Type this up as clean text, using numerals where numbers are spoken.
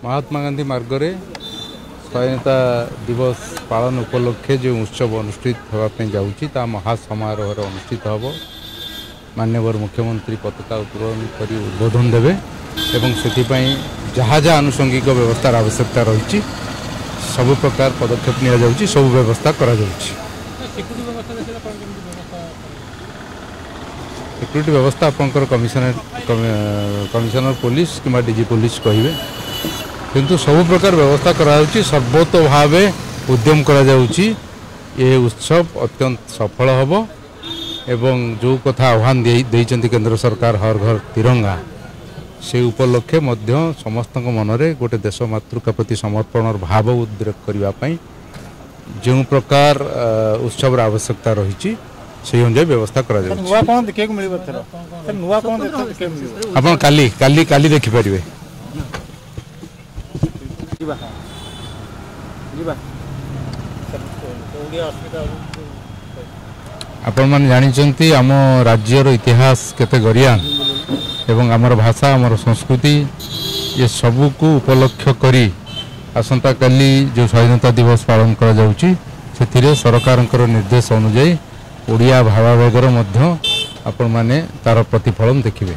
ମହାତ୍ମା ଗାନ୍ଧୀ ମାର୍ଗରେ ସ୍ୱାଧୀନତା ଦିବସ ପାଳନ ଉପଲକ୍ଷେ ଯେଉଁ ଉତ୍ସବ ଅନୁଷ୍ଠିତ ହେବା ପାଇଁ ଯାଉଛି, ତାହା ମହାସମାରୋହରେ ଅନୁଷ୍ଠିତ ହେବ। ମାନ୍ୟବର ମୁଖ୍ୟମନ୍ତ୍ରୀ ପତାକା ଉତ୍ତୋଳନ କରି ଉଦ୍ବୋଧନ ଦେବେ ଏବଂ ସେଥିପାଇଁ ଯାହା ଯାହା ଆନୁଷଙ୍ଗିକ ବ୍ୟବସ୍ଥାର ଆବଶ୍ୟକତା ରହିଛି, ସବୁ ପ୍ରକାର ପଦକ୍ଷେପ ନିଆଯାଉଛି, ସବୁ ବ୍ୟବସ୍ଥା କରାଯାଉଛି। ସିକ୍ୟୁରିଟି ବ୍ୟବସ୍ଥା ଆପଣଙ୍କର କମିଶନର ପୋଲିସ କିମ୍ବା ଡିଜି ପୋଲିସ କହିବେ, କିନ୍ତୁ ସବୁ ପ୍ରକାର ବ୍ୟବସ୍ଥା କରାଯାଉଛି। ସର୍ବୋତ୍ତ ଭାବେ ଉଦ୍ୟମ କରାଯାଉଛି ଏ ଉତ୍ସବ ଅତ୍ୟନ୍ତ ସଫଳ ହେବ ଏବଂ ଯେଉଁ କଥା ଆହ୍ୱାନ ଦେଇଛନ୍ତି କେନ୍ଦ୍ର ସରକାର, ହର ଘର ତିରଙ୍ଗା, ସେ ଉପଲକ୍ଷେ ମଧ୍ୟ ସମସ୍ତଙ୍କ ମନରେ ଗୋଟେ ଦେଶ ମାତୃକା ପ୍ରତି ସମର୍ପଣର ଭାବ ଉଦ୍ରେକ କରିବା ପାଇଁ ଯେଉଁ ପ୍ରକାର ଉତ୍ସବର ଆବଶ୍ୟକତା ରହିଛି, ସେଇ ଅନୁଯାୟୀ ବ୍ୟବସ୍ଥା କରାଯାଉଛି। ନୂଆ କ'ଣ ଦେଖିବାକୁ ମିଳିବ ଏଥର? ନୂଆ କ'ଣ ଦେଖିବାକୁ ମିଳିବ? ଆପଣ କାଲି କାଲି କାଲି ଦେଖିପାରିବେ। ଯିବା ଯିବା। ଆପଣମାନେ ଜାଣିଛନ୍ତି ଆମ ରାଜ୍ୟର ଇତିହାସ କେତେ ଗରିଆନ ଏବଂ ଆମର ଭାଷା, ଆମର ସଂସ୍କୃତି, ଏ ସବୁକୁ ଉପଲକ୍ଷ କରି ଆସନ୍ତାକାଲି ଯେଉଁ ସ୍ୱାଧୀନତା ଦିବସ ପାଳନ କରାଯାଉଛି, ସେଥିରେ ସରକାରଙ୍କର ନିର୍ଦ୍ଦେଶ ଅନୁଯାୟୀ ଓଡ଼ିଆ ଭାବାବେଗର ମଧ୍ୟ ଆପଣମାନେ ତାର ପ୍ରତିଫଳନ ଦେଖିବେ।